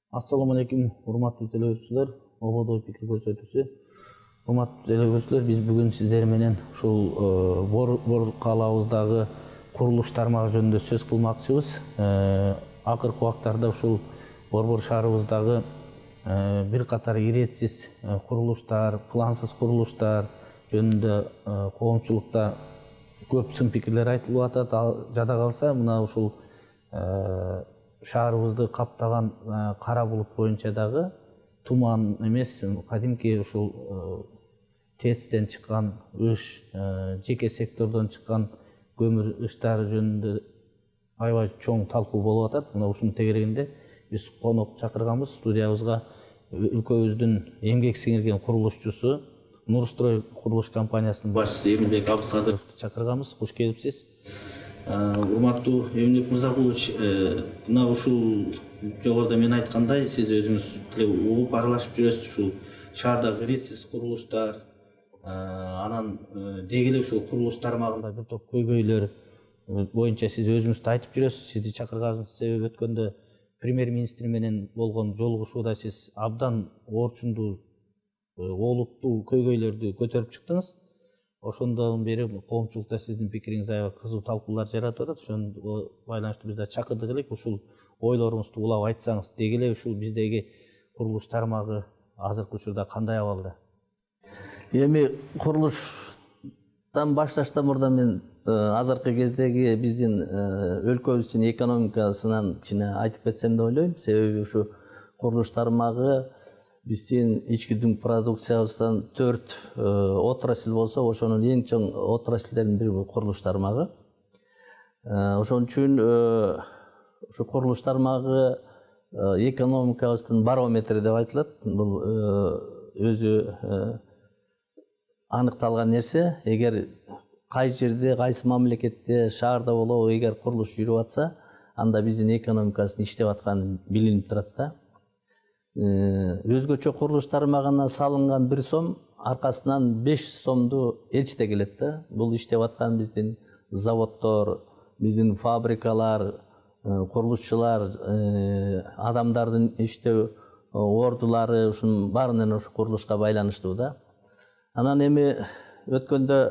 Assalamu alaikum, урматтуу телеөрчүлөр, ободой пикир көрсөтүүсү. Урматтуу телеөрчүлөр, биз бүгүн сиздер менен ушул Бор калаабыздагы курулуш тармагы жөнүндө сөз кылмакчыбыз. Акыркы убактарда ушул Борбор шаарыбыздагы бир катар иретсиз курулуштар, плансыз курулуштар жөнүндө коомчулукта көп сын пикирлер айтылып атат. Жада калса, мына ушул шаарыбызды каптаган кара булут боюнча дагы туман эмес, кадимки ушул ТЭЦтен чыккан ыш, жеке сектордон чыккан көмүр ыштары жөнүндө аябай чоң талкуу болуп атат. Мына ушунун тегерегинде биз конок чакырганбыз студиябызга. Өлкөбүздүн эмгек сиңирген курулушчусу, Нурстрой курулуш компаниясынын башчысы Эмилбек Абдыкадыровду чакырганбыз. Куш келипсиз. Урматтуу Эмилбек Мырзакулович, мына ушул жогоруда мен айткандай, сиз өзүңүз угуп аралашып жүрөсүз ушул шаардагы иретсиз курулуштар, анан деги эле ушул курулуш тармагында бир топ көйгөйлөр боюнча сиз өзүңүз айтып жүрөсүз. Сизди чакырганыбыздын себеби өткөндө премьер-министр менен болгон жолугушууда сиз абдан орчундуу, олуттуу көйгөйлөрдү көтөрүп чыктыңыз. Ошондон бери коомчулукта сиздин пикириңиз аябай кызуу талкуулар жаратып атат. Ошондо байланыштуу биз да чакырдык элек. Ушул ойлоруңузду улап айтсаңыз, деги эле ушул биздеги курулуш тармагы азыркы учурда кандай абалда? Эми курулуштан башташтан мурда мен азыркы кездеги биздин өлкөбүздүн экономикасынан кичине айтып кетсем деп ойлойм. Себеби ушу курулуш тармагы биздин ички дүң продукциябыздан 4 отрасль болсо, ошонун эң чоң отрасльдердин бири бул курулуш тармагы. Ошон үчүн ушу курулуш тармагы экономикабыздын барометри деп айтылат. Бул өзү аныкталган нерсе. Эгер кай жерде, кайсы мамлекетте, шаарда болобу, эгер курулуш жүрүп атса, анда биздин экономикасынын иштеп атканы билинип турат да. Өзгөчө курулуш тармагына салынган 1 сом аркасынан 5 сомду элчите келет да. Бул иштеп аткан биздин заводдор, биздин фабрикалар, курулушчулар, адамдардын иштөө ордулары, ушунун баарынан ушу курулушка байланыштуу да. Анан эми өткөндө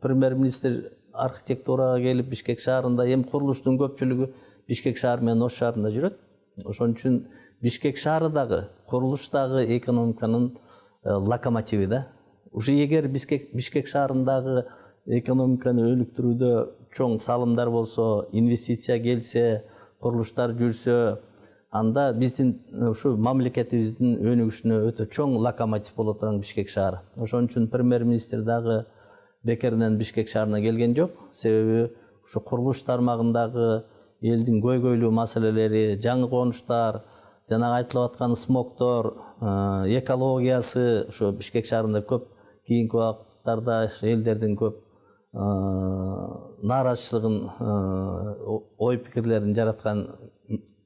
премьер-министр архитектурага келип Бишкек шаарында, эми курулуштун көпчүлүгү Бишкек шаары менен Ош шаарында жүрөт. Ошон үчүн Бишкек шаары дагы, курулуш дагы экономиканын локомотиви да. Ушу эгер Бишкек шаарындагы экономиканы өнүктүрүүдө чоң салымдар болсо, инвестиция келсе, курулуштар жүрсө, анда биздин ушу мамлекетибиздин өнүгүшүнө өтө чоң локомотив боло турган Бишкек шаары. Ошон үчүн премьер-министр дагы бекеринен Бишкек шаарына келген жок. Себеби ушу курулуш тармагындагы элдин көйгөйлүү маселелери, жаңы конуштар, жанагы айтылып аткан смогтор, экологиясы ушу Бишкек шаарында көп кийинки убакыттарда элдердин көп нааразычылыгын, ой пикирлерин жараткан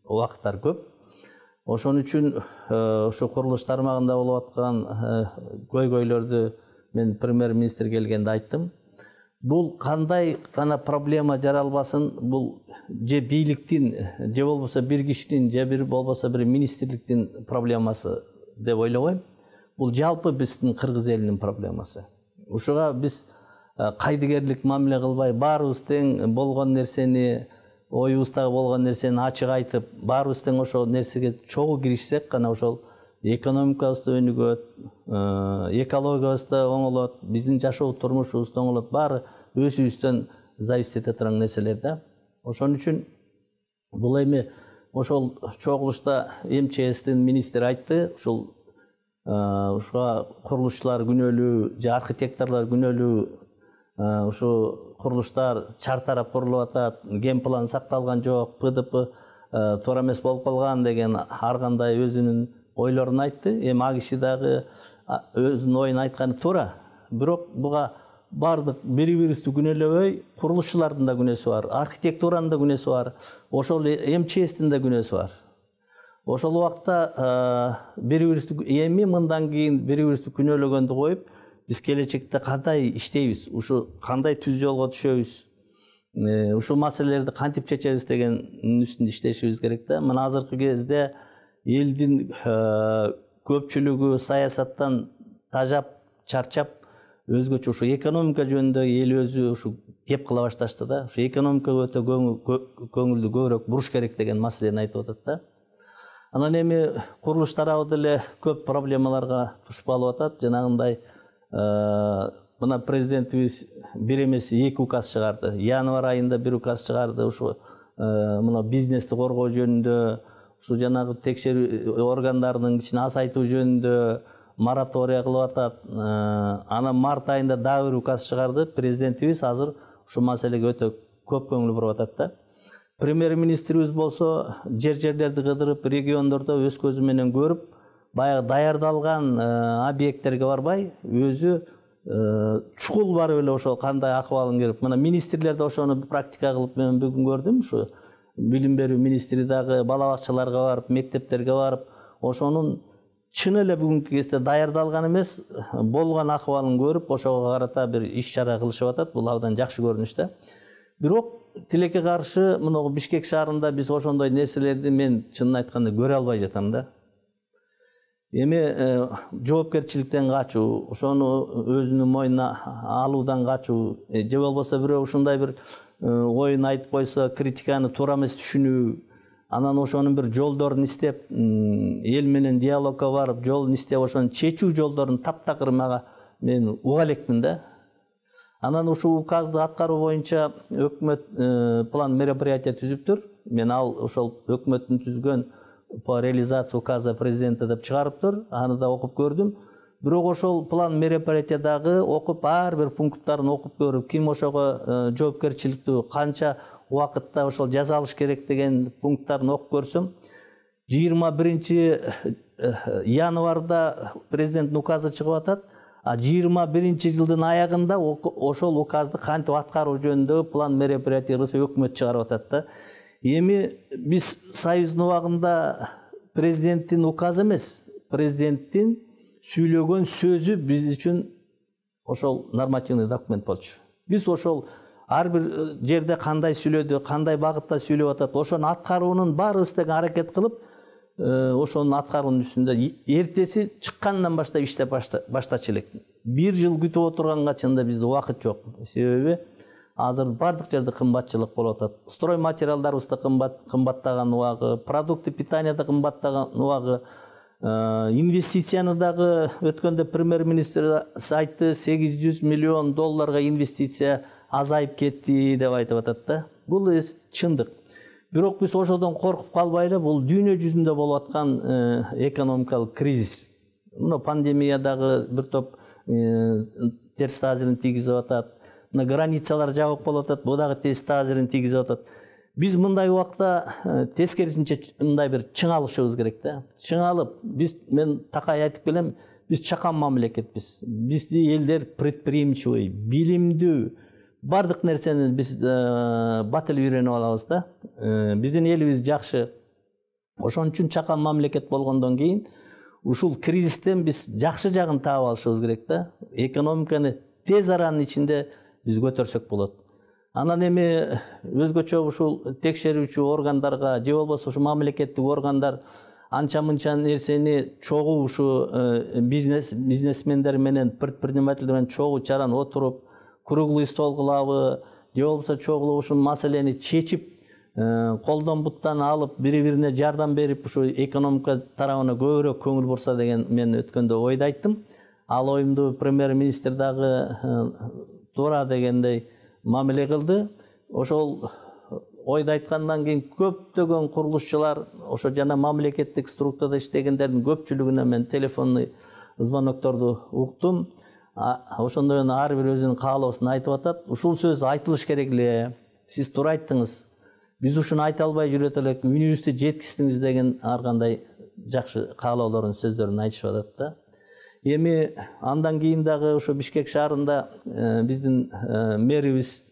убакыттар көп. Ошон үчүн ушу курулуш тармагында болуп аткан көйгөйлөрдү мен премьер-министр келгенде айттым. Бул кандай гана проблема жаралбасын, бул же бийликтин, же болбосо бир кишинин, же бир болбосо бир министрликтин проблемасы деп ойлобойм. Бул жалпы биздин кыргыз элинин проблемасы. Ушуга биз кайдыгерлик мамиле кылбай, баарыбыз тең болгон нерсени, оюбуздагы болгон нерсени ачык айтып, баарыбыз тең ошол нерсеге чогуу киришсек гана ошол экономикабыз да өнүгөт, экологиябыз да оңолот, биздин жашоо турмушубуз да оңолот. Баары өзүбүздөн зависить эте турган нерселер да. Ошон үчүн бул эми ошол чогулушта МЧСтин министри айтты, ушул ушуга курулушчулар күнөөлүү, же архитекторлор күнөөлүү, ушу курулуштар чартарап курулуп атат, генплан сакталган жок, ПДП туура эмес болуп калган деген ар кандай өзүнүн ойлорун айтты. Эми а киши дагы өзүнүн оюн айтканы туура. Бирок буга бардык бири-бирибизди күнөөлөбөй, курулушчулардын да күнөөсү бар, архитектуранын да күнөөсү бар, ошол МЧСтин да күнөөсү бар. Ошол убакта бири-бирибизди эми мындан кийин бири-бирибизди күнөөлөгөндү коюп, биз келечекте кандай иштейбиз, ушу кандай түз жолго түшөбүз, ушул маселелерди кантип чечебиз дегендин үстүндө иштешибиз керек да. Мына азыркы кезде элдин көпчүлүгү саясаттан тажап, чарчап, өзгөчө ушу экономика жөнүндө эл өзү ушу кеп кыла башташты да. Ушу экономикага өтө көңүлдү көбүрөөк буруш керек деген маселени айтып атат да. Анан эми курулуш тарабы деле көп проблемаларга туш болуп атат. Жанагындай мына президентибиз бир эмес 2 указ чыгарды. Январь айында 1 указ чыгарды. Ушу мына бизнести коргоо жөнүндө, ушу жанагы текшерүү органдарынын ичин азайтуу жөнүндө моратория кылып атат. Анан март айында дагы 1 указ чыгарды. Президентибиз азыр ушу маселеге өтө көп көңүл буруп атат да. Премьер-министрибиз болсо жерлерди кыдырып, региондордо өз көзү менен көрүп, баягы даярдалган объекттерге барбай, өзү чукул барып эле ошо кандай акыбалын көрүп, мына министрлер да ошону практика кылып мен бүгүн көрдүм. Ушу билим берүү министри дагы бала бакчаларга барып, мектептерге барып, ошонун чын эле бүгүнкү кезде даярдалган эмес, болгон акыбалын көрүп, ошого карата бир иш-чара кылышып атат. Бул абдан жакшы көрүнүш да. Бирок тилекке каршы мына Бишкек шаарында биз ошондой нерселерди мен чынын айтканда көрө албай жатам да. Эми жоопкерчиликтен качуу, ошону өзүнүн мойнуна алуудан качуу, же болбосо бирөө ушундай бир оюн айтып койсо, критиканы туура эмес түшүнүү, анан ошонун бир жолдорун издеп, эл менен диалогко барып, жолун издеп, ошонун чечүү жолдорун таптакыр мага мен уга элекмин да. Анан ушул указды аткаруу боюнча өкмөт план мероприятия түзүптүр. Мен ал ошол өкмөттүн түзгөн по реализации указа президента деп чыгарыптыр. Аны да окуп көрдүм. Бирок ошол план мероприятиядагы окуп, ар бир пункттарын окуп көрүп, ким ошого жоопкерчиликтүү, канча убакытта ошол жазалыш керек деген пункттарын окуп көрсөм, 21 январда президенттин указы чыгып атат. 21-жылдын аягында ошол указды кантип аткаруу жөнүндө план мероприятиясы өкмөт чыгарып атат да. Эми биз Союздун убагында президенттин указы эмес, президенттин сүйлөгөн сөзү биз үчүн ошол нормативный документ болчу. Биз ошол ар бир жерде кандай сүйлөдү, кандай багытта сүйлөп атат, ошону аткаруунун баарыбыз тең аракет кылып, ошонун аткаруунун үстүндө эртеси чыккандан баштап иштеп баштачу элек. 1 жыл күтүп отурганга чынында бизде убакыт жок. Себеби азыр бардык жерде кымбатчылык болуп атат. Строй материалдарыбыз да кымбаттаган убагы, продукты питания да кымбаттаган убагы, инвестицияны дагы өткөндө премьер-министр айтты, $800 миллион инвестиция азайып кетти деп айтып атат да. Бул чындык. Бирок биз ошодон коркуп калбай эле, бул дүйнө жүзүндө болуп аткан экономикалык кризис. Мына пандемиядагы бир топ терс таасирин тийгизип атат. Мына границалар жабык болуп атат, бул дагы терс таасирин тийгизип атат. Биз мындай убакта тескерисинче мындай бир чыңалышыбыз керек да. Чыңалып, мен такай айтып келем, биз чакан мамлекетпиз. Бизди элдер предприимчивый, билимдүү, бардык нерсени биз батыл үйрөнүп алабыз да. Биздин элибиз жакшы. Ошон үчүн чакан мамлекет болгондон кийин ушул кризистен биз жакшы жагын таап алышыбыз керек да. Экономиканы тез аранын ичинде биз көтөрсөк болот. Анан эми өзгөчө ушул текшерүүчү органдарга, же болбосо ушу мамлекеттик органдар анча-мынча нерсени чогуу ушу бизнесмендер менен, предпринимательдер менен чогуу чаран отуруп, круглый стол кылабы, же болбосо чогуу ушул маселени чечип, колдон буттан алып, бири-бирине жардам берип, ушу экономика тарабына көбүрөөк көңүл бурса деген мен өткөндө ойду айттым. Ал оюмду премьер-министр дагы туура дегендей мамиле кылды. Ошол ойду айткандан кийин көптөгөн курулушчулар, ошо жана мамлекеттик структурада иштегендердин көпчүлүгүнө мен телефонный звонокторду уктум. Ошондо ар бир өзүнүн каалоосун айтып атат. Ушул сөз айтылыш керек эле. Сиз туура айттыңыз. Биз ушуну айта албай жүрөт элек, үнүбүздү жеткиздиңиз деген ар кандай жакшы каалоолорун, сөздөрүн айтышып атат да. Эми андан кийин дагы ушу Бишкек шаарында биздин мэрибиз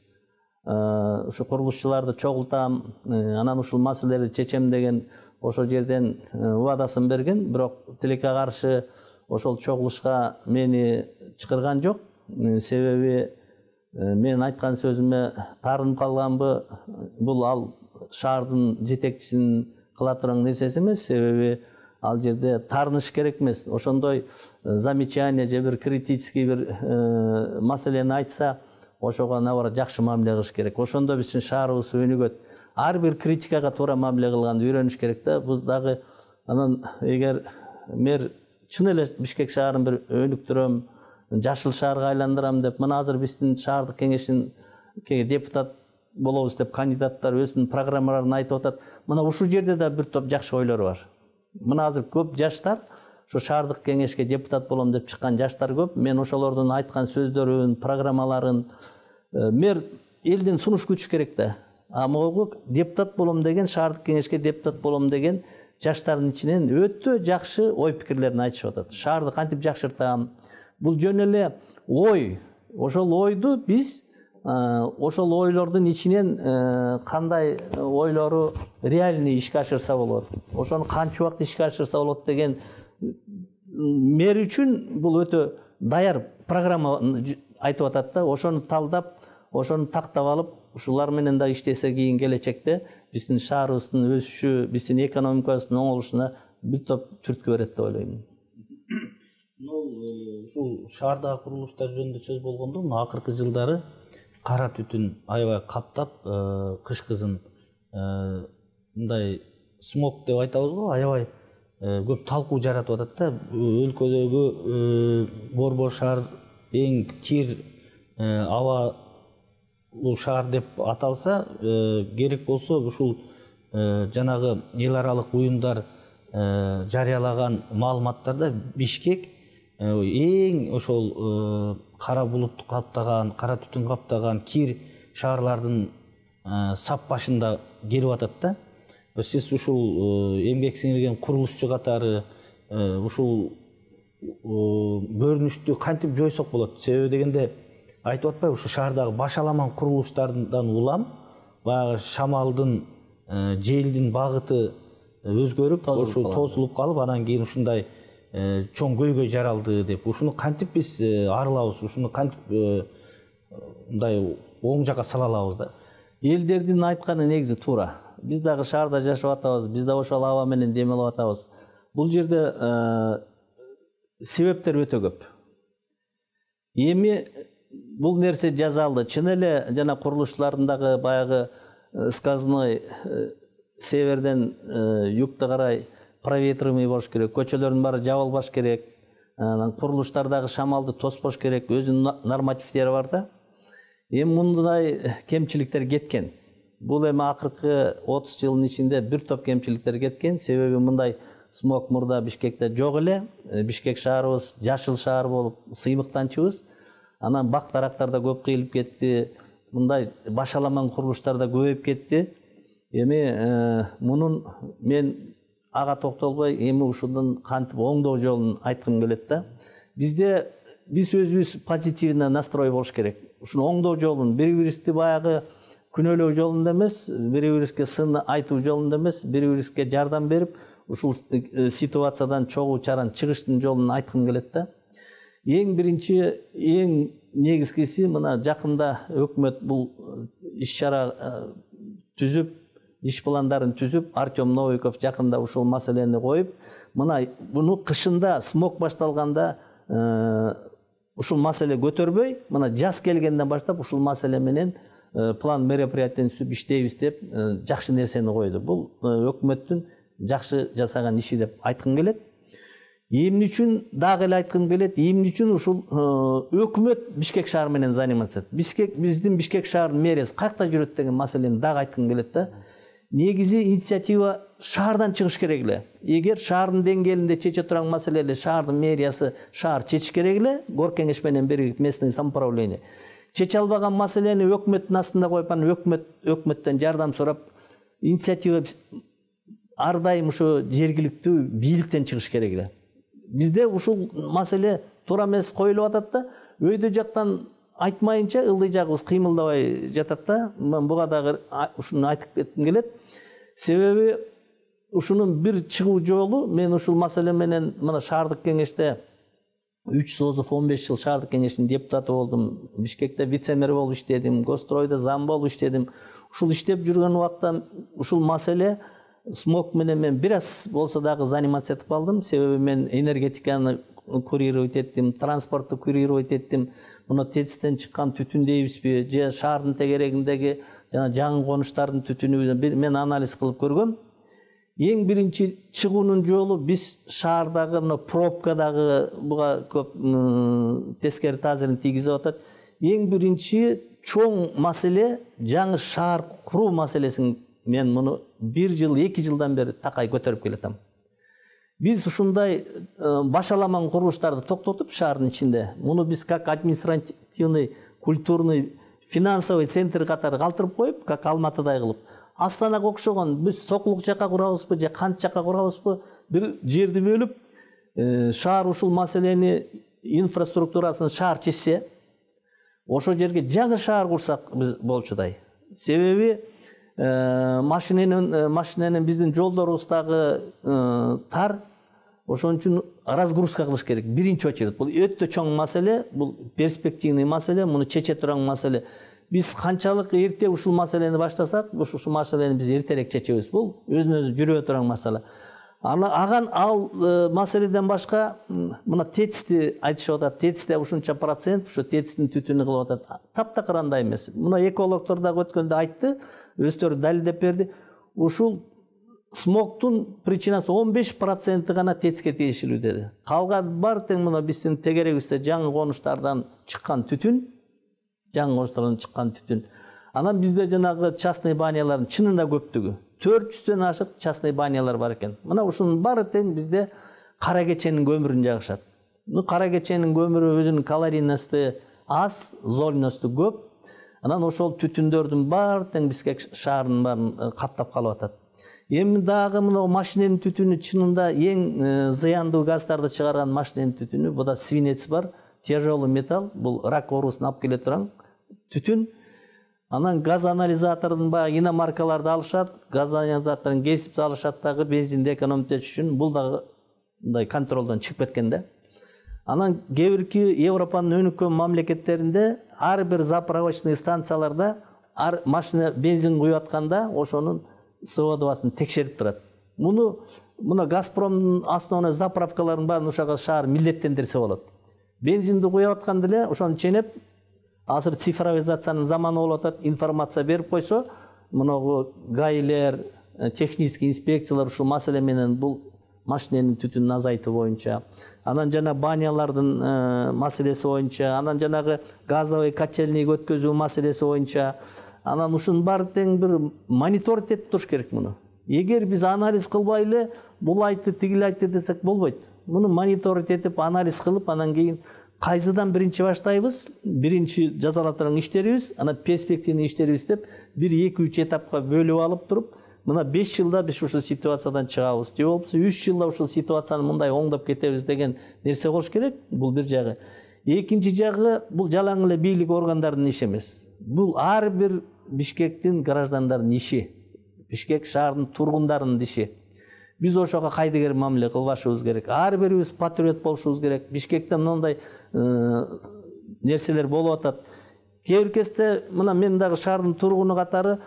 ушу курулушчуларды чогултам, анан ушул маселелерди чечем деген ошол жерден убадасын берген, бирок тилекке каршы ошол чогулушка мени чакырган жок. Себеби мен айткан сөзүмө таарынып калганбы, бул ал шаардын жетекчисинин кыла турган нерсеси эмес. Себеби ал жерде таарыныш керек эмес. Ошондой замечание же бир критический бир маселени айтса, ошого набары жакшы мамиле кылыш керек. Ошондо биздин шаарыбыз өнүгөт. Ар бир критикага туура мамиле кылганды үйрөнүш керек да. Бул дагы анан эгер мэр чын эле Бишкек шаарын бир өнүктүрөм, жашыл шаарга айландырам деп, мына азыр биздин шаардык кеңештин депутат болобуз деп кандидаттар өзүнүн программаларын айтып атат. Мына ушул жерде да бир топ жакшы ойлор бар. Мына азыр көп жаштар ушу шаардык кеңешке депутат болом деп чыккан жаштар көп. Мен ошолордун айткан сөздөрүн, программаларын мэр элден сунуш күтүш керек да. А могу депутат болом деген, шаардык кеңешке депутат болом деген жаштардын ичинен өтө жакшы ой пикирлерин айтышып атат. Шаарды кантип жакшыртам? Бул жөн эле ой. Ошол ойду биз ошол ойлордун ичинен кандай ойлору реальный ишке ашырса болот, ошону канча убакыт ишке ашырса болот деген мэр үчүн бул өтө даяр программа айтып атат да. Ошону талдап, ошону тактап алып, ушулар менен да иштесе кийин келечекте биздин шаарыбыздын өсүшү, биздин экономикабыздын оңолушуна бир топ түрткү берет деп ойлойм. Ушул шаардагы курулуштар жөнүндө сөз болгондо, акыркы жылдары кара түтүн аябай каптап, кыш кызын мындай смог деп айтабыз го, аябай көп талкуу жаратып атат да. Өлкөдөгү Борбор шаар эң кир абалуу шаар деп аталса керек болсо, ушул жанагы эл аралык уюмдар жарыялаган маалыматтарда Бишкек эң ошол кара булут каптаган, кара түтүн каптаган кир шаарлардын сап башында келип атат да. Сиз ушул эмгек сиңирген курулушчу катары ушул көрүнүштү кантип жойсок болот? Себеби дегенде айтып атпайбы, ушу шаардагы башаламан курулуштардан улам баягы шамалдын, желдин багыты өзгөрүп, ушул тосулуп калып, анан кийин ушундай чоң көйгөй жаралды деп. Ушуну кантип биз арылабыз? Ушуну кантип мындай оң жакка сала алабыз да? Элдердин айтканы негизи туура. Биз дагы шаарда жашап атабыз, биз да ошол аба менен дем алып атабыз. Бул жерде себептер өтө көп. Эми бул нерсе жазалды. Чын эле жана курулуштардагы баягы сказной северден югта карай проветриваемый болуш керек, көчөлөрдүн баары жабылбаш керек, курулуштардагы шамалды тоспош керек, өзүнүн нормативдери бар да. Эми мындай кемчиликтер кеткен. Бул эми акыркы 30 жылдын ичинде бир топ кемчиликтер кеткен. Себеби мындай смог мурда Бишкекте жок эле. Бишкек шаарыбыз жашыл шаар болуп сыймыктанчыбыз. Анан бак-дарактар да көп кыйылып кетти. Мындай башаламан курулуштар да көбөйүп кетти. Эми мунун мен ага токтолбой, эми ушунун кантип оңдоо жолун айткым келет да. Биз өзүбүз позитивный настрой болуш керек. Ушуну оңдоо жолун бири-бирибизди баягы күнөөлөө жолунда эмес, бири-бирибизге сын айтуу жолунда эмес, бири-бирибизге жардам берип, ушул ситуациядан чогуу чаран чыгыштын жолун айткым келет да. Эң биринчи, эң негизгиси, мына жакында өкмөт бул иш-чара түзүп, иш пландарын түзүп, Артем Новиков жакында ушул маселени коюп, мына буну кышында смог башталганда ушул маселе көтөрбөй, мына жаз келгенден баштап ушул маселе менен план мероприятияны түзүп иштейбиз деп жакшы нерсени койду. Бул өкмөттүн жакшы жасаган иши деп айткым келет. Эмне үчүн дагы эле айткым келет, эмне үчүн ушул өкмөт Бишкек шаары менен заниматься этет. Биздин Бишкек шаарынын мэриясы каякта жүрөт деген маселени дагы айткым келет да. Негизи инициатива шаардан чыгыш керек эле. Эгер шаардын деңгээлинде чече турган маселе эле шаардын мэриясы шаар чечиш керек эле, гор кеңеш менен биригип местный самоуправление. Чече албаган маселени өкмөттүн астында коюп, анан өкмөттөн жардам сурап, инициатива ар дайым ушу жергиликтүү бийликтен чыгыш керек эле. Бизде ушул маселе туура эмес коюлуп атат да, өйдө жактан айтмайынча ылдый жагыбыз кыймылдабай жатат да. Мен буга дагы ушуну айтып кетким келет. Себеби ушунун бир чыгуу жолу, мен ушул маселе менен мына шаардык кеңеште 3 созуп 15 жыл шаардык кеңештин депутаты болдум. Бишкекте вице-мэр болуп иштедим, Гостройдо зам болуп иштедим. Ушул иштеп жүргөн убакта ушул маселе смог менен мен бир аз болсо дагы заниматься этип калдым. Себеби мен энергетиканы курировать еттим, транспортты курировать еттим. Мына ТЭЦтен чыккан түтүн дейбизби, же шаардын тегерегиндеги жана жаңы конуштардын түтүнү мен анализ кылып көргөм. Эң биринчи чыгуунун жолу биз шаардагы мына пробкадагы буга көп тескери таасирин тийгизип атат. Эң биринчи чоң маселе жаңы шаар куруу маселесин мен муну 1 жыл, 2 жылдан бери такай көтөрүп келатам. Биз ушундай башаламан курулуштарды токтотуп шаардын ичинде, муну биз как административный, культурный, финансовый центр катары калтырып коюп, как Алматыдай кылып, Астанага окшогон биз Сокулук жака курабызбы же Кант жака курабызбы, бир жерди бөлүп, шаар ушул маселени инфраструктурасын шаар чечсе, ошол жерге жаңы шаар курсак биз болчудай. Себеби машиненин биздин жолдорубуз дагы тар. Ошон үчүн разгрузка кылыш керек. Биринчи очередь. Бул өтө чоң маселе, бул перспективный маселе, муну чече турган маселе. Биз канчалык эрте ушул маселени баштасак, ушул маселени биз эртерээк чечебиз. Бул өзүнө жүрө турган маселе. Ал маселеден башка мына ТЭЦти айтышып атат. ТЭЦте ушунча процент, ушу ТЭЦтин түтүнү кылып атат. Таптакыр андай эмес. Мына экологдор дагы өткөндө айтты, өздөрү далилдеп берди. Ушул смогтун причинасы 15% гана ТЭЦке тиешелүү деди. Калган бар тең мына биздин тегерегибизде жаңы конуштардан чыккан түтүн, Анан бизде жанагы частный банялардын чынында көптүгү 400дөн ашык частный банялар бар экен. Мына ушунун баары тең бизде кара кеченин көмүрүн жагышат. Кара кеченин көмүрү өзүнүн калорийности аз, зольности көп. Анан ошол түтүндөрдүн баары тең Бишкек шаарынын баарын каптап калып атат. Эми дагы мына машиненин түтүнү чынында эң зыяндуу газдарды чыгарган машиненин түтүнү, буда свинец бар, тяжелый металл, бул рак оорусун алып келе турган түтүн. Анан газ анализатордун баягы иномаркаларды алышат, газ анализаторун кесип салышат дагы бензинди экономдош үчүн. Бул дагы мындай контролдон чыгып кеткен да. Анан кээ бирки Европанын өнүккөн мамлекеттеринде ар бир заправочный станцияларда машина бензин куюп атканда ошонун СО2-сын текшерип турат. Муну Газпромдун основной заправкаларын баарын ушага шаар милдеттендирсе болот. Бензинди куюп атканда эле ошону ченеп, азыр цифровизациянын заманы болуп атат, информация берип койсо, мунагу гаилер, технический инспекциялар ушул маселе менен бул машиненин түтүнүн азайтуу боюнча, анан жана банялардын маселеси боюнча, анан жанагы газовый котельныйга өткөзүү маселеси боюнча, анан ушунун баары тең бир мониторинг этип туруш керек муну. Эгер биз анализ кылбай эле бул айтты, тигил айтты десек болбойт. Муну мониторинг этип анализ кылып, анан кийин кайсыдан биринчи баштайбыз, биринчи жазалап турган иштерибиз, анан перспективный иштерибиз деп 1-2-3 этапка бөлүп алып туруп, мына 5 жылда биз ушул ситуациядан чыгабыз, же болбосо 3 жылда ушул ситуацияны мындай оңдоп кетебиз деген нерсе болуш керек. Бул бир жагы. Экинчи жагы, бул жалаң эле бийлик органдарынын иши эмес. Бул ар бир Бишкектин граждандарынын иши. Бишкек шаарынын тургундарынын иши. Биз ошого кайдыгер мамиле кылбашыбыз керек. Ар бирибиз патриот болушубуз керек. Бишкекте мындай нерселер болуп атат. Кээ бир кезде мына мен дагы шаардын тургуну катары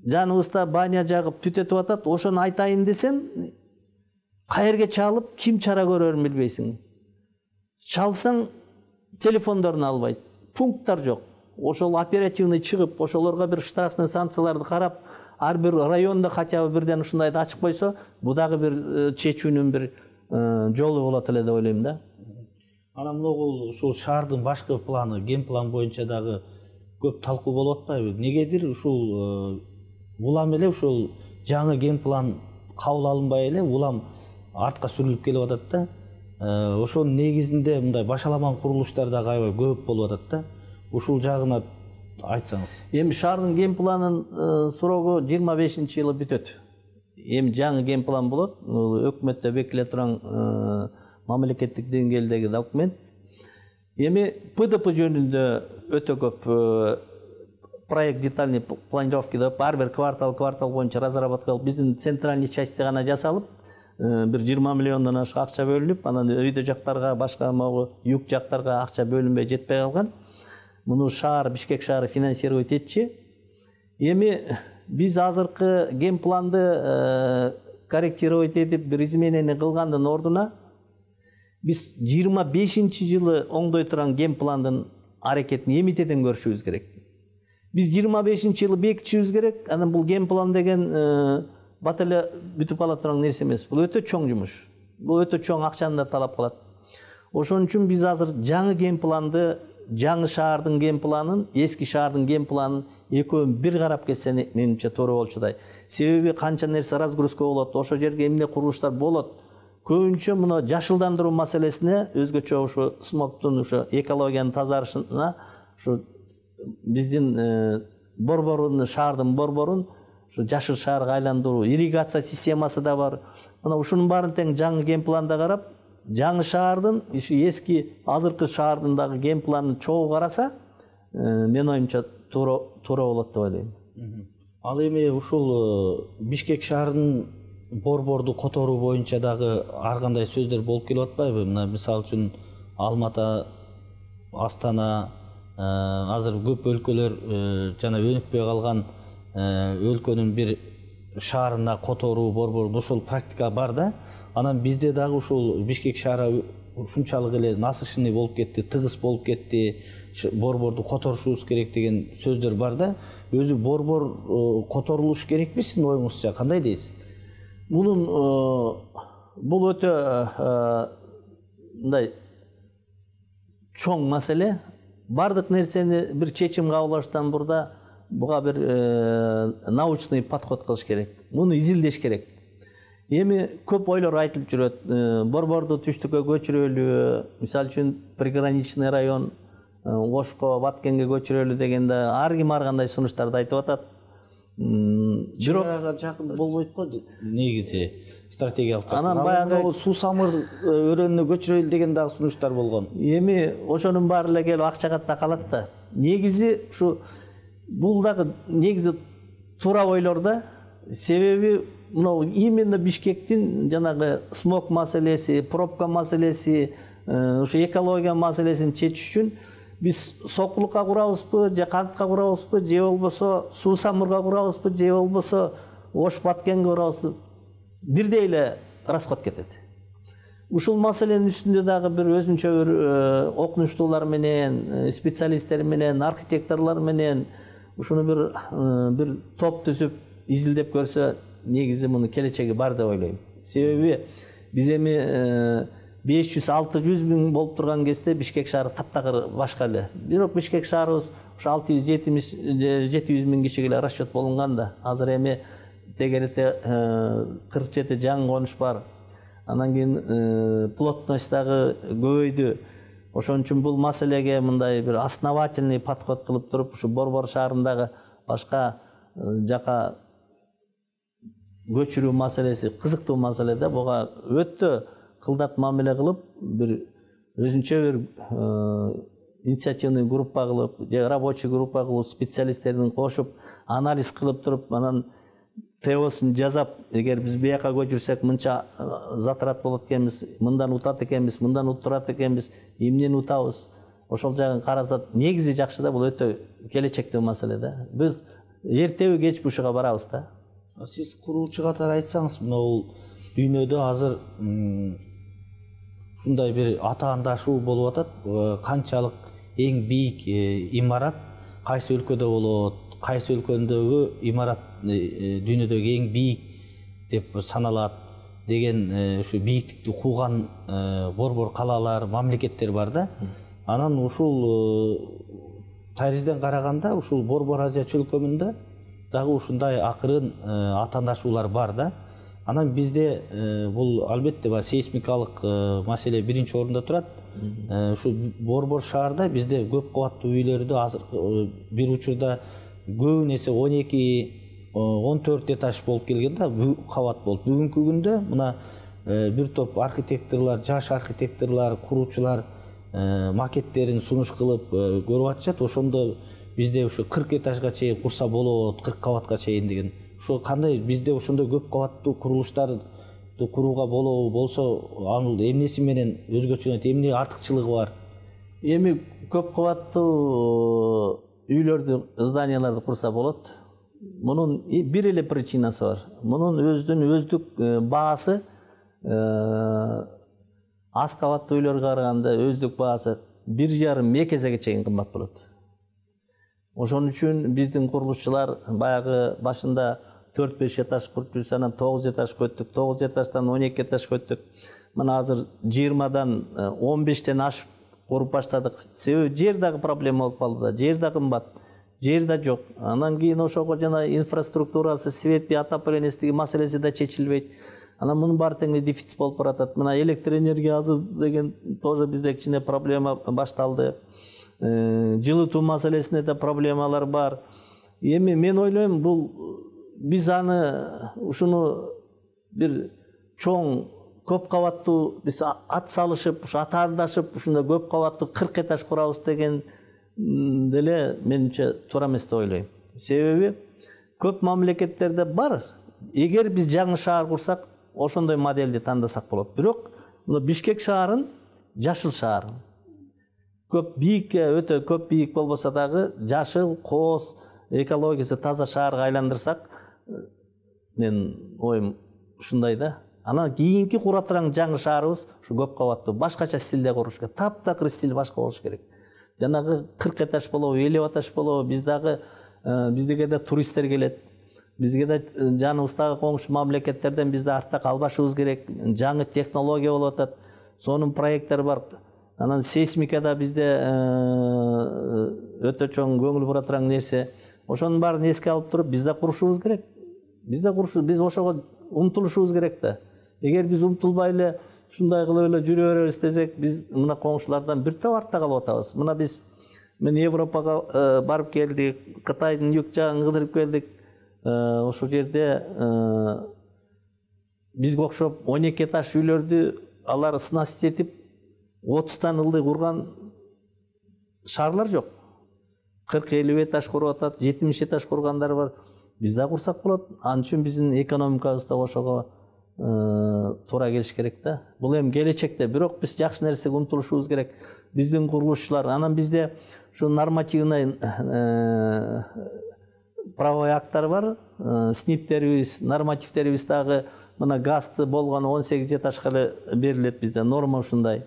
жаныбызда баня жагып түтөтүп атат. Ошону айтайын десем, каерге чалып, ким чара көрөрүн билбейсиң. Чалсаң телефондорун албайт. Пункттар жок. Ошол оперативный чыгып, ошолорго бир штрафный санкцияларды карап, ар бир районда хотя бы бирден ушундайды ачып койсо, бул дагы бир чечүүнүн бир жолу болот эле деп ойлойм да. Анан могул ушул шаардын башкы планы, ген план боюнча дагы көп талкуу болуп атпайбы? Негедир ушул улам эле ушул жаңы ген план кабыл алынбай эле улам артка сүрүлүп келип атат да. Ошонун негизинде мындай башаламан курулуштар дагы аябай көп болуп атат да. Ушул жагына айтсаңыз. Эми шаардын ген планын срогу 25-жылы бүтөт. Эми жаңы ген план болот. Өкмөттө бекитиле турган мамлекеттик деңгээлдеги документ. Эми ПДП жөнүндө өтө көп проект детальный планировки деп ар бир квартал боюнча разработка кылып, биздин центральный части гана жасалып, бир 20 миллиондон ашык акча бөлүнүп, анан өйдө жактарга, башка могу юг жактарга акча бөлүнбөй жетпей калган. Муну шаар, Бишкек шаары финансировать этчи. Эми Биз азыркы ген планды корректировать этип бир изменение кылгандын ордуна биз 25-жылы оңдой турган ген пландын аракетин эмитеден көрүшүбүз керек. Биз 25-жылы бекитишибиз керек. Анан бул ген план деген бат эле бүтүп ала турган нерсе эмес. Бул өтө чоң жумуш. Бул өтө чоң акчаны да талап кылат. Ошон үчүн биз азыр жаңы ген планды, жаңы шаардын ген планын, эски шаардын ген планын экөөнүн бир карап кетсе менимче туура болчудай. Себеби канча нерсе разгрузка болот, ошо жерге эмне курулуштар болот. Көбүнчө мына жашылдандыруу маселесине, өзгөчө ошо смогтун, ошо экологиянын тазарышына, ошо биздин борборун, шаардын борборун ошо жашыл шаарга айландыруу, ирригация системасы да бар. Мына ушунун баарын тең жаңы ген планда карап, жаңы шаардын, эски азыркы шаардын дагы ген планын чогуу караса, мен оюмча туура болот деп ойлойм. Ал эми ушул Бишкек шаарынын борборду которуу боюнча дагы ар кандай сөздөр болуп келип атпайбы? Мына мисалы үчүн Алматы, Астана, азыр көп өлкөлөр жана өнүкпөй калган өлкөнүн бир шаарына которуу борборду ошол практика бар да. Анан бизде дагы ушул Бишкек шаары ушунчалык эле насыщенный болуп кетти, тыгыз болуп кетти, борборду которушубуз керек деген сөздөр бар да. Өзү борбор которулуш керекпи сиздин оюңузча? Кандай дейсиз? Бул өтө мындай чоң маселе. Бардык нерсени бир чечим кабылдаштан бурда буга бир научный подход кылыш керек. Муну изилдеш керек. Эми көп ойлор айтылып жүрөт. Борборду түштүккө көчүрөлү, мисалы үчүн приграничный район Ошко, Баткенге көчүрөлү дегенде ар ким ар кандай сунуштарды айтып атат. Бирок жакын болбойт го негизи стратегиялык. Анан баягы суу самыр өрөөнүнө көчүрөлү деген дагы сунуштар болгон. Эми ошонун баары эле келип акчагатта калат да. Негизи ушу бул дагы негизи туура ойлор да. Себеби мына именно Бишкектин жанагы смог маселеси, пробка маселеси, ошо экология маселесин чечиш үчүн биз сокулукка курабызбы, же кантка курабызбы, же болбосо суу самырга курабызбы, же болбосо Ош Баткенге курабызбы, бирдей эле расход кетет. Ушул маселенин үстүндө дагы бир өзүнчө бир окунуштуулар менен, специалисттер менен, архитекторлор менен ушуну бир топ түзүп изилдеп көрсө, негизи мунун келечеги бар деп ойлойм. Себеби биз эми 500-600 миң болуп турган кезде Бишкек шаары таптакыр башка эле. Бирок Бишкек шаарыбыз ошо 600-700 миң кишиге эле расчет болунган да. Азыр эми тегерете 47 жаңы конуш бар. Анан кийин плотность дагы көбөйдү. Ошон үчүн бул маселеге мындай бир основательный подход кылып туруп, ушу борбор шаарындагы башка жака көчүрүү маселеси кызыктуу маселе да. Буга өтө кылдат мамиле кылып, бир өзүнчө бир инициативный группа кылып, же рабочий группа кылып, специалисттерин кошуп, анализ кылып туруп, анан теосун жазап, эгер биз бияка көчүрсөк мынча затрат болот экенбиз, мындан утат экенбиз, мындан уттурат экенбиз, эмнени утабыз, ошол жагын карасат, негизи жакшы да, бул өтө келечектүү маселе да. Биз эртеби кечпи ушуга барабыз да. Сиз куруучу катары айтсаңыз, бул дүйнөдө азыр ушундай бир атаандашуу болуп атат. Канчалык эң бийик имарат кайсы өлкөдө болот, кайсы өлкөдөгү имарат дүйнөдөгү эң бийик деп саналат деген ушу бийиктикти кууган борбор калалар, мамлекеттер бар да. Анан ушул таризден караганда ушул Борбор Азия чөлкөмүндө дагы ушундай акырын атаандашуулар бар да. Анан бизде бул албетте сейсмикалык маселе биринчи орунда турат. Ушу борбор шаарда бизде көп кабаттуу үйлөрдө азыр бир учурда көбүн эсе 12-14 этаж болуп келген да, кабат болуп. Бүгүнкү күндө мына бир топ архитекторлор, жаш архитекторлор, куруучулар макеттерин сунуш кылып көрүп атышат. Ошондо бизде ушу 40 этажга чейин курса болот, 40 кабатка чейин деген. Ошо кандай бизде ошондой көп кабаттуу курулуштарды курууга болсо, анын эмнеси менен өзгөчөлөнөт, эмне артыкчылыгы бар? Эми көп кабаттуу үйлөрдү, зданияларды курса болот. Мунун бир эле причинасы бар. Мунун өздүк баасы аз кабаттуу үйлөргө караганда өздүк баасы 1,5-2 эсеге чейин кымбат болот. Ошон үчүн биздин курулушчулар баягы башында 4-5 этаж куруп жүрсө, анан 9 этаж көттүк, 9 этаждан 12 этаж көттүк. Мына азыр 20-дан 15-тен ашып куруп баштадык. Себеби жер дагы проблема болуп калды да, жер да кымбат, жер да жок. Анан кийин ошого жана инфраструктурасы, свети, отоплениясындагы маселеси да чечилбейт. Анан мунун баары теңири дефицит болуп баратат. Мына электр энергия азыр деген тоже бизде кичине проблема башталды. Жылытуу маселесинде да проблемалар бар. Эми мен ойлойм, бул биз ушуну бир чоң көп кабаттуу биз ат салышып, атаандашып, ушундай көп кабаттуу 40 этаж курабыз деген деле менимче туура эмес деп ойлойм. Себеби көп мамлекеттерде бар. Эгер биз жаңы шаар курсак, ошондой модельди тандасак болот. Бирок мына Бишкек шаарын жашыл шаар. Көп бийикке, өтө көп бийик болбосо дагы жашыл, кооз, экологиясы таза шаарга айландырсак, мен оюм ушундай да. Анан кийинки кура турган жаңы шаарыбыз ушу көп кабаттуу, башкача стилде куруш керек. Таптакыр стил башка болуш керек. Жанагы 40 этаж болобу, 50 этаж болобу, биздеге да туристтер келет. Бизге да жаныбыздагы коңшу мамлекеттерден бизде артта калбашыбыз керек. Жаңы технология болуп атат. Сонун проекттер бар. Анан сейсмикада бизде өтө чоң көңүл бура турган нерсе. Ошонун баарын эске алып туруп, биз да курушубуз керек. Биз ошого умтулушубуз керек да. Эгер биз умтулбай эле ушундай кылып эле жүрө беребиз десек, биз мына коңшулардан бир топ артта калып атабыз. Мына мен Европага барып келдик, Кытайдын юг жагын кыдырып келдик. Ошол жерде бизге окшоп 12 этаж үйлөрдү алар снасить этип 30тан ылдый курган шаарлар жок. 40-50 этаж куруп атат, 70 этаж кургандар бар. Биз да курсак болот. Ал үчүн биздин экономикабыз да ошого туура келиш керек да. Бул эми келечекте, бирок биз жакшы нерсеге умтулушубуз керек. Биздин курулушчулар, анан бизде ушу нормативный правовой акттар бар, сниптерибиз, нормативтерибиз дагы мына газды болгону 18 этажга эле берилет бизде, норма ушундай.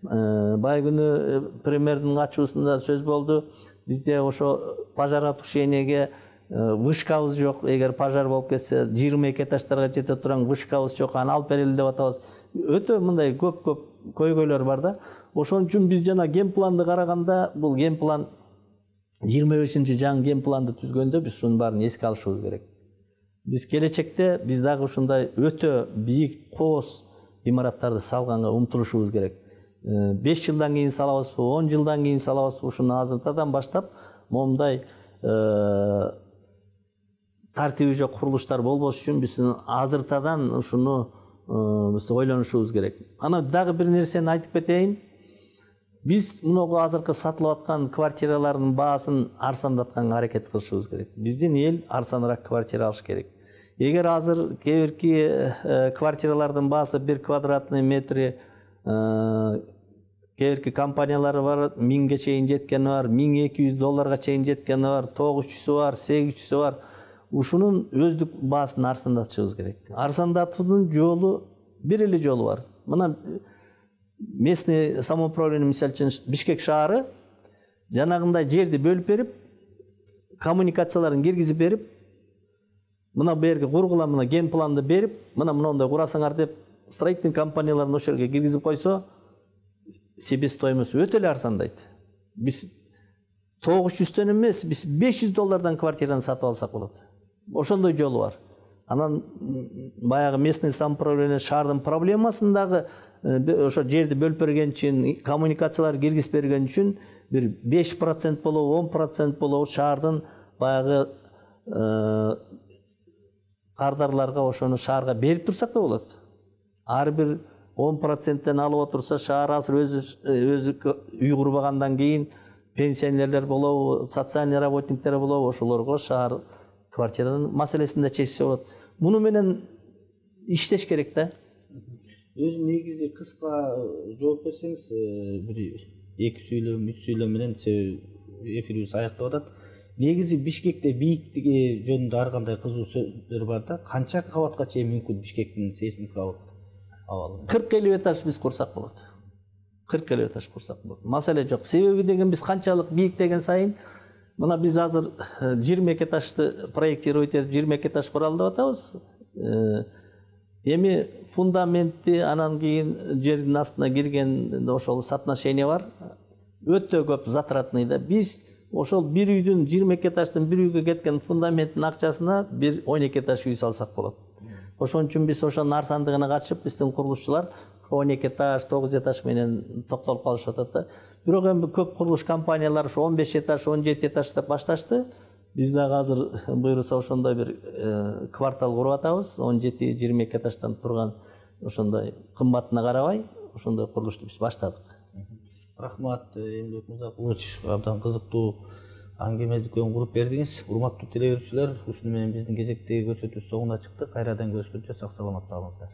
Бай күнү премьердин ачуусунда сөз болду. Бизде ошо пожаротушениеге вышкабыз жок. Эгер пожар болуп кетсе, 22 этаждарга жете турган вышкабыз жок. Аны алып берели деп атабыз. Өтө мындай көп көйгөйлөр бар да. Ошон үчүн биз жана генпланды караганда, бул генплан 25-чи жаңы генпланды түзгөндө биз ушунун баарын эске алышыбыз керек. Биз келечекте биз дагы ушундай өтө бийик, кооз имараттарды салганга умтулушубуз керек. 5 жылдан кийин салабызбы, 10 жылдан кийин салабызбы, ушуну азыртадан баштап момундай тартиби жок курулуштар болбош үчүн биз азыртадан ушуну биз ойлонушубуз керек. Анан дагы бир нерсени айтып кетейин. Биз мунуга азыркы сатылып аткан квартиралардын баасын арзандатканга аракет кылышыбыз керек. Биздин эл арзаныраак квартира алыш керек. Эгер азыр кээ-бирки квартиралардын баасы 1 квадратный метри кээ-бирки компаниялар бар, 1000ге чейин жеткени бар, $1200 чейин жеткени бар, 900 бар, 800 бар. Ушунун өздүк баасын арзандатышыбыз керек. Арзандатуунун жолу бир эле жолу бар. Мына местный самоуправление, мисалы үчүн Бишкек шаары жанагындай жерди бөлүп берип, коммуникацияларын киргизип берип, мына берги кургула, мына ген планды берип, мына мондой курасаңар деп строительный компанияларын ошол жерге киргизип койсо, себестоимость өтө эле арзандайт. Биз 900төн эмес, биз $500 квартираны сатып алсак болот. Ошондой жолу бар. Анан баягы местный самоуправление шаардын проблемасын дагы ошо жерди бөлүп берген үчүн, коммуникациялар киргизип берген үчүн бир 5% болобу, 10% болобу шаардын баягы кардарларга ошону шаарга берип турсак да болот. Ар бир 10%тен алып отурса, шаар азыр өзү үй курбагандан кийин пенсионерлер болобу, социальный работниктер болобу, ошолорго шаар квартиранын маселесин да чечсе болот. Муну менен иштеш керек да. Өзү негизи кыска жооп берсеңиз, бир 2 сүйлөм, 3 сүйлөм менен эфирибиз аяктап атат. негизи Бишкекте бийиктиги жөнүндө ар кандай кызуу сөздөр бар да. Канча кабатка чейин мүмкүн Бишкектин сейсмикалык абалы? 40-50 этаж биз курсак болот. 40-50 этаж курсак болот. Маселе жок. Себеби деген биз канчалык бийик деген сайын, мына биз азыр 22 этажды проектировать этип 22 этаж куралдап атабыз. Эми фундаментти, анан кийин жердин астына кирген ошол соотношение бар. Өтө көп затратный да. Биз ошол бир үйдүн 22 этаждын бир үйгө кеткен фундаменттин акчасына бир 12 этаж үй салсак болот. Ошон үчүн биз ошонун арзандыгына качып, биздин курулушчулар 12 этаж, 9 этаж менен токтолуп калышып атат да. Бирок эми көп курулуш компаниялары ошо 15 этаж, 17 этаж деп башташты. Биз дагы азыр буйруса ошондой бир квартал куруп атабыз. 17-22 этаждан турган ошондой кымбатына карабай, ошондой курулушту биз баштадык. Рахмат, Эмилбек Мырзакулович, абдан кызыктуу аңгеме дүкөн куруп бердиңиз. Урматтуу теле көрүүчүлөр, ушуну менен биздин кезектеги көрсөтүү соңуна чыкты. Кайрадан көрүшкөнчө сак саламатта калыңыздар.